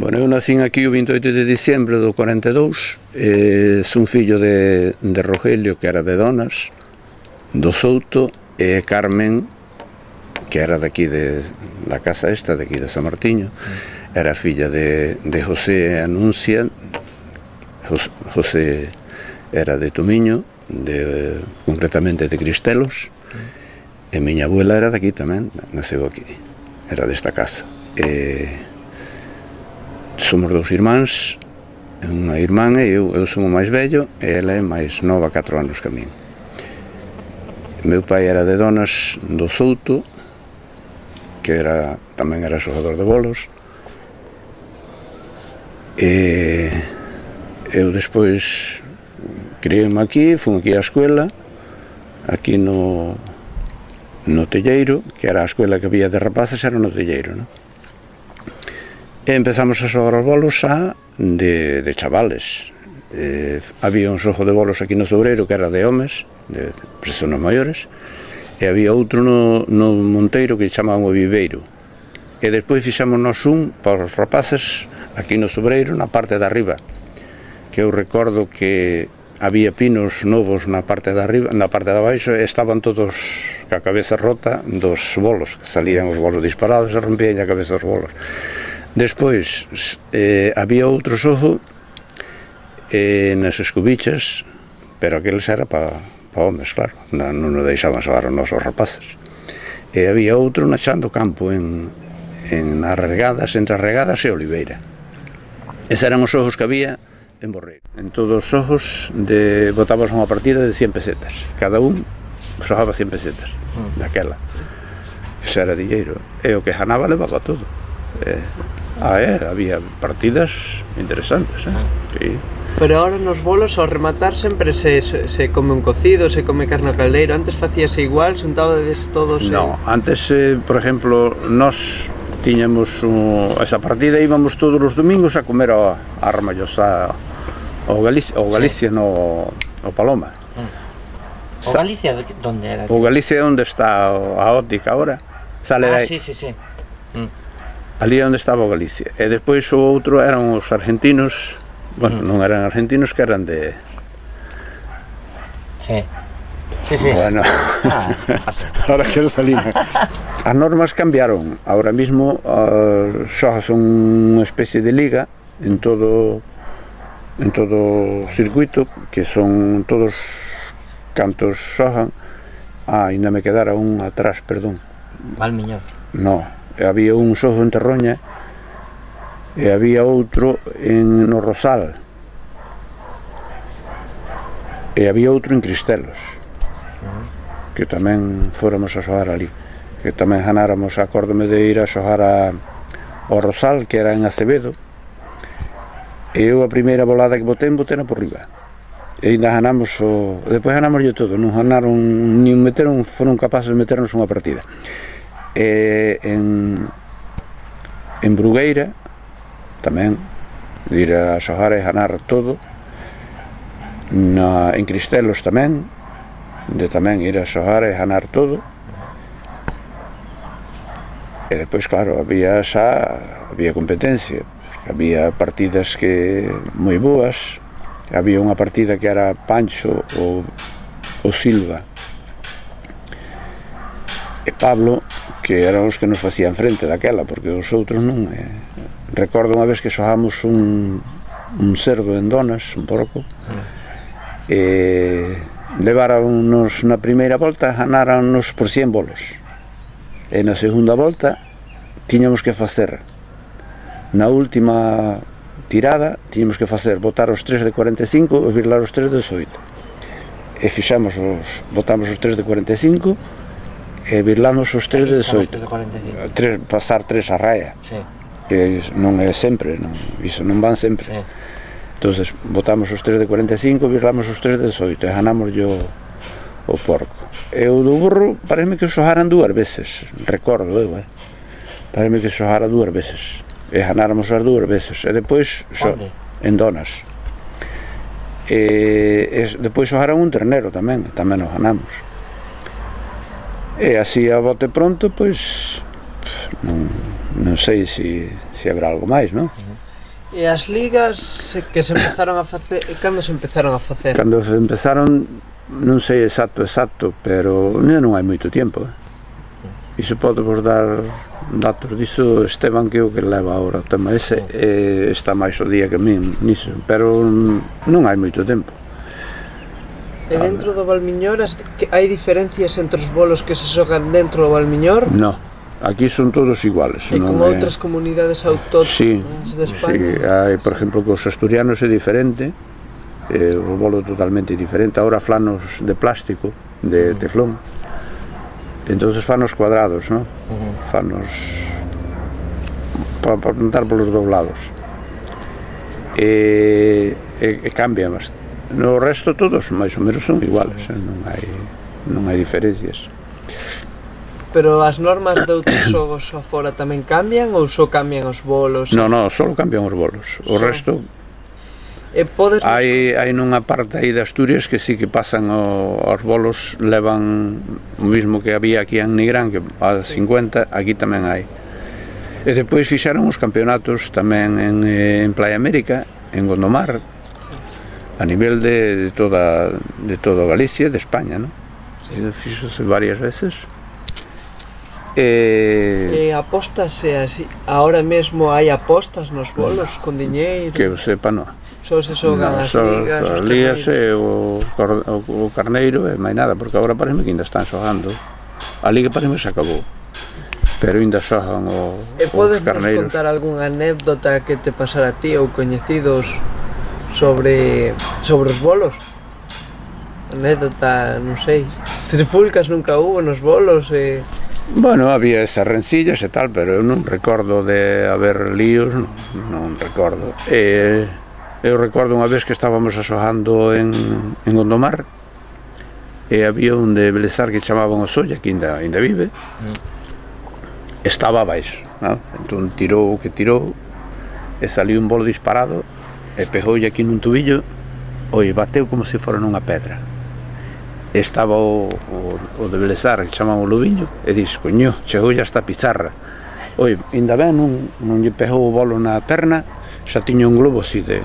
Bueno, eu nacín aquí o 28 de diciembre do 42, son fillo de Rogelio, que era de Donas, do Souto, e Carmen, que era daqui da casa esta, daqui de San Martiño, era filla de José Anuncia. José era de Tomiño, concretamente de Cristelos, e miña abuela era daqui tamén, nasceu aquí, era desta casa. Somos dous irmáns, unha irmán e eu son o máis vello, e ela é máis nova, 4 anos que a min. Meu pai era de Donas do Souto, que tamén era xogador de bolos, e eu despois criei-me aquí, fui aquí á escuela, aquí no Telleiro, que era a escuela que había de rapaces, era no Telleiro, non? E empezamos a xogar os bolos xa de chavales. Había un xogo de bolos aquí no Zoureiro que era de homes, de personas maiores, e había outro no Monteiro que chamaban o Viveiro. E despois fixámonos un para os rapaces aquí no Zoureiro, na parte de arriba, que eu recordo que había pinos novos na parte de arriba, na parte de abaixo, e estaban todos ca cabeza rota dos bolos, que salían os bolos disparados e rompían a cabeza dos bolos. Despois había outro xogo nas escubichas, pero aqueles era para homes, claro, non nos deixaban xogar os nosos rapaces. E había outro naxando campo nas regadas, entre as regadas e Oliveira. Eses eran os xogos que había en Borreiro. En todos os xogos botábamos unha partida de 100 pesetas, cada un xogaba 100 pesetas daquela. Ese era dilleiro, e o que ganaba levaba todo. Había partidas interesantes, sí. Pero ahora nos bolos, ao rematar, sempre se come un cocido, se come carne ao caldeiro. Antes facíase igual, xuntabades todos... No, antes, por exemplo, nós tiñamos esa partida, íbamos todos os domingos a comer a Ramallosa, ao Galicia, no Paloma. O Galicia, onde era? O Galicia é onde está a óptica ahora. Sí. Ali é onde estaba o Galicia. E despois o outro eran os argentinos, bueno, non eran argentinos, que eran de... Sí. Bueno, ahora quero salir. As normas cambiaron. Ahora mismo xa son unha especie de liga en todo o circuito, que son todos cantos xogan. Ainda me quedara un atrás, perdón. Valmiñor. No. Había un xogo en Terroña e había outro no Rosal e había outro en Cristelos, que tamén fóramos a xogar ali, que tamén ganáramos. Acórdome de ir a xogar ao Rosal, que era en Acevedo, e eu a primeira volada que botei por riba, e ainda ganamos depois ganamos todo, non ganaron nin meteron, foron capaces de meternos unha partida. En Brugueira tamén de ir a xogar e ganar todo. En Cristelos tamén, de tamén ir a xogar e ganar todo. E despois, claro, había competencia, había partidas que moi boas. Había unha partida que era Pancho o Silva e Pablo, que eran os que nos facían frente daquela, porque os outros non. Recordo unha vez que xogamos un cerdo en Donas, un porco, e leváranos na primeira volta, ganáranos por 100 bolos, e na segunda volta tiñamos que facer, na última tirada, tiñamos que botar os 3 de 45 e virlar os 3 de 18, e botamos os 3 de 45 e virlamos os 3 de 18, pasar 3 a raya, que non é sempre, iso non van sempre. Entonces botamos os 3 de 45, virlamos os 3 de 18 e ganamos o porco. E o do burro parece que xogaran 2 veces, recordo eu, parece que xogara 2 veces e ganáramos as 2 veces, e depois en Donas, e depois xogaran un ternero tamén nos ganamos. E así a bote pronto, pois non sei se habrá algo máis, non? E as ligas que se empezaron a facer, cando se empezaron a facer? Cando se empezaron, non sei exacto, pero non hai moito tempo. Iso pode vos dar datos diso Esteban, que é o que leva agora o tema ese, está máis o día que min niso, pero non hai moito tempo. E dentro do Valmiñor, hai diferencias entre os bolos que se xogan dentro do Valmiñor? Non, aquí son todos iguales. E con outras comunidades autóctonas de España? Sí, hai, por exemplo, que os asturianos é diferente, o bolo totalmente diferente, agora flanos de plástico, de teflón, entonces fanos cuadrados, ¿no? Fanos para plantar polos dous lados, e cambian bastante. No resto todos máis ou menos son iguales, non hai diferencias. Pero as normas de outros xogos afora tamén cambian ou só cambian os bolos? Non, só cambian os bolos, o resto hai nunha parte aí de Asturias que sí que pasan os bolos, levan o mismo que había aquí en Nigrán, que a 50, aquí tamén hai. E depois fixeron os campeonatos tamén en Playa América, en Gondomar, a nivel de toda Galicia, de España, ¿no? Fixose varias veces. E apóstase así, ahora mesmo hai apostas nos bolos con diñeiro? Que eu sepa, non. Só se xogan as ligas? As ligas e o carneiro e máis nada, porque agora parece que ainda están xogando. A liga parece que se acabou, pero ainda xogan os carneiros. E podes nos contar algunha anécdota que te pasara a ti ou coñecidos sobre os bolos? Anécdota, non sei, trifulcas nunca hubo nos bolos? Bueno, había esas rencillas e tal, pero eu non recordo de haber líos, non recordo. Eu recordo unha vez que estábamos axogando en Gondomar, e había un de Belesar que chamaban o Solla, que ainda vive, estaba abaixo, ¿no? Entón tirou o que tirou, e saliu un bolo disparado, e pegoulle aquí nun tubillo, bateu como se fora nunha pedra. Estaba o de Belesar, que chamaban o Lobiño, e dix, coño, chegoulle hasta a pizarra. Ainda ben, non lle pegou o bolo na perna, xa tiña un globo así de